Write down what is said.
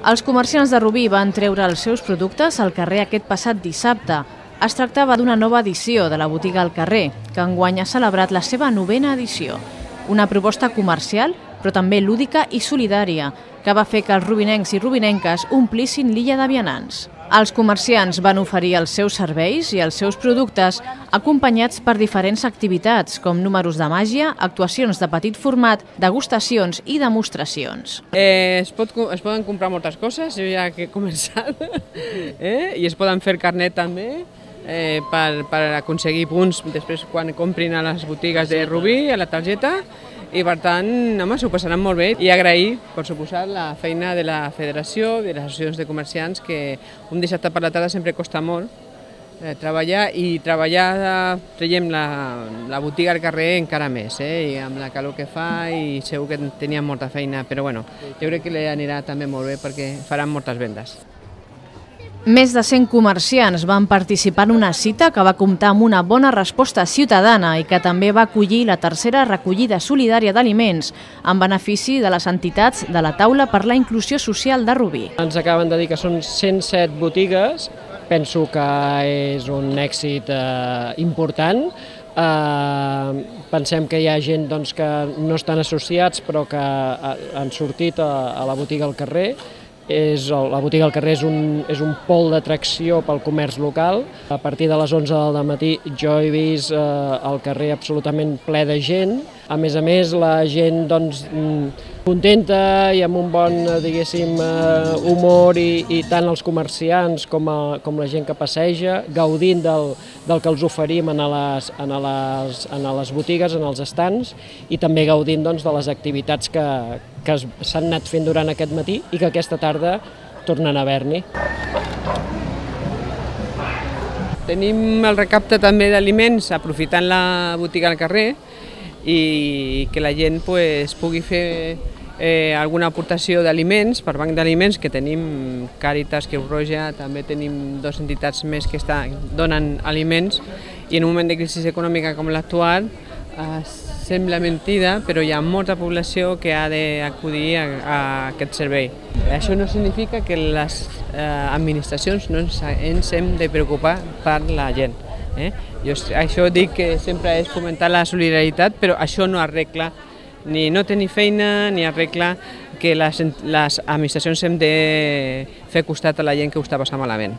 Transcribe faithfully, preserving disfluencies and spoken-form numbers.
Els comerciants de Rubí van treure els seus productes al carrer aquest passat dissabte. Es tractava d'una nova edició de la botiga al carrer, que enguany ha celebrat la seva novena edició. Una proposta comercial, però també lúdica i solidària, que va fer que els rubinencs i rubinenques omplissin l'illa de vianants. Els comerciants van oferir els seus serveis i els seus productes acompanyats per diferents activitats, com números de màgia, actuacions de petit format, degustacions i demostracions. Eh, es, pot, es poden comprar moltes coses, jo ja que he començat, eh? I es poden fer carnet també, eh, per, per aconseguir punts després quan comprin a les botigues de Rubí, a la targeta, i per tant, home, s'ho passaran molt bé i agrair, per suposat, la feina de la federació, de les associacions de comerciants, que un dissabte per la tarda sempre costa molt eh, treballar, i treballar, traiem la, la botiga al carrer encara més, eh, i amb la calor que fa, i segur que teníem molta feina, però bueno, jo crec que li anirà també molt bé perquè faran moltes vendes. Més de cent comerciants van participar en una cita que va comptar amb una bona resposta ciutadana i que també va acollir la tercera recollida solidària d'aliments en benefici de les entitats de la Taula per la Inclusió Social de Rubí. Ens acaben de dir que són cent set botigues, penso que és un èxit eh, important. Eh, pensem que hi ha gent doncs, que no estan associats però que han sortit a, a la botiga al carrer. És, la botiga al carrer és un, és un pol d'atracció pel comerç local. A partir de les onze del matí jo he vist eh, el carrer absolutament ple de gent. A més a més, la gent doncs, contenta i amb un bon diguéssim, humor, i, i tant els comerciants com, a, com la gent que passeja, gaudint del, del que els oferim en les, en les, en les botigues, en els estants, i també gaudint doncs, de les activitats que, que s'han anat fent durant aquest matí i que aquesta tarda tornen a haver-n'hi. Tenim el recapte també d'aliments aprofitant la botiga al carrer, i que la gent pues, pugui fer eh, alguna aportació d'aliments, per banc d'aliments, que tenim Càritas, Creu Roja, també tenim dues entitats més que estan, donen aliments, i en un moment de crisi econòmica com l'actual eh, sembla mentida, però hi ha molta població que ha d'acudir a, a aquest servei. Això no significa que les eh, administracions no ens, ens hem de preocupar per la gent. Eh? Jo això dic que sempre és fomentar la solidaritat, però això no arregla ni no tenir feina, ni arregla que les, les administracions hem de fer costat a la gent que ho està passant malament.